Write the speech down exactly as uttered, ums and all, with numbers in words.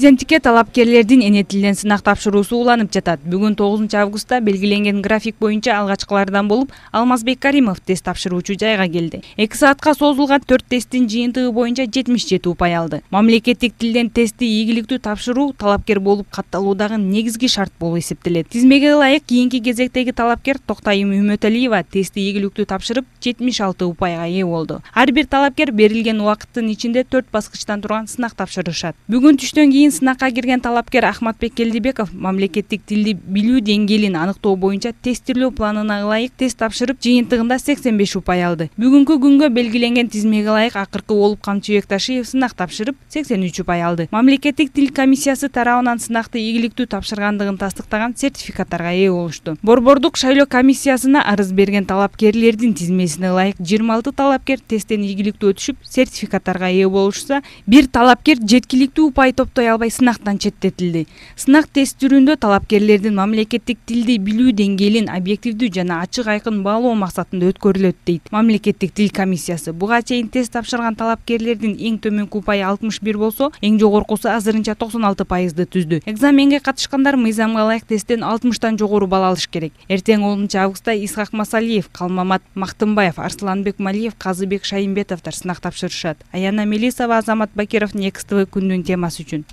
Президенттикке талапкерлердин эне тилинен сынак тапшыруусу уланып жатат. Бүгүн тогузунчу августта белгиленген график боюнча алгачкылардан болуп Алмазбек Каримов тест тапшыруучу жайга келди. эки саатка созулган төрт тесттин жыйынтыгы боюнча жетимиш жети упай алды. Мамлекеттик тилден тестти ийгиликтүү тапшыруу талапкер болуп катталуудагы негизги шарт болуп эсептелет. Тизмеге ылайык кийинки кезектеги талапкер Токтайым Үмөталиева тестти ийгиликтүү тапшырып жетимиш алты упайга ээ болду. Ар бир талапкер берилген убакыттын ичинде төрт баскычтан турган сынак тапшырышат. Бүгүн түштөн кийин сынакка кирген талапкер Ахматбек Келдибеков мамлекеттик тилди билүү деңгээлин аныктоо боюнча тестирлөө планына ылайык тест тапшырып жыйынтыгында сексен беш упай алды. Бүгүнкү күнгө белгиленген тизмеге ылайык акыркы болуп Камчыбек Ташиев сынак тапшырып сексен үч упай алды. Мамлекеттик тил комиссиясы тарабынан сынакты ийгиликтүү тапшыргандыгын тастыктаган сертификаттарга ээ болушту. Борбордук шайлоо комиссиясына арыз берген талапкерлердин тизмесине ылайык жыйырма алты талапкер тесттен ийгиликтүү өтүшүп сертификаттарга ээ болушса, бир талапкер жеткиликтүү упай топтой албай сынактан четтетилди. Сынак тест түрүндө талапкерлердин мамлекеттик тилди билүү деңгээлин объективдүү жана ачык айкын баалоо максатында өткөрүлөт дейт мамлекеттик тил комиссиясы. Буга чейин тест тапшырган талапкерлердин эң төмөнкү упайы алтымыш бир болсо, эң жогоркусу азырынча токсон алты пайызды түздү. Экзаменге катышкандар мыйзамга ылайык тесттен алтымыштан жогору балл алыш керек. Эртең онунчу августта Исхак Масалиев, Калмамат Мактымбаев, Арсланбек Малиев, Казыбек Шайымбетовдор сынак тапшырышат. Аяна Мелисова, Азамат Бакиров, Next тэ вэ күндүн темасы үчүн.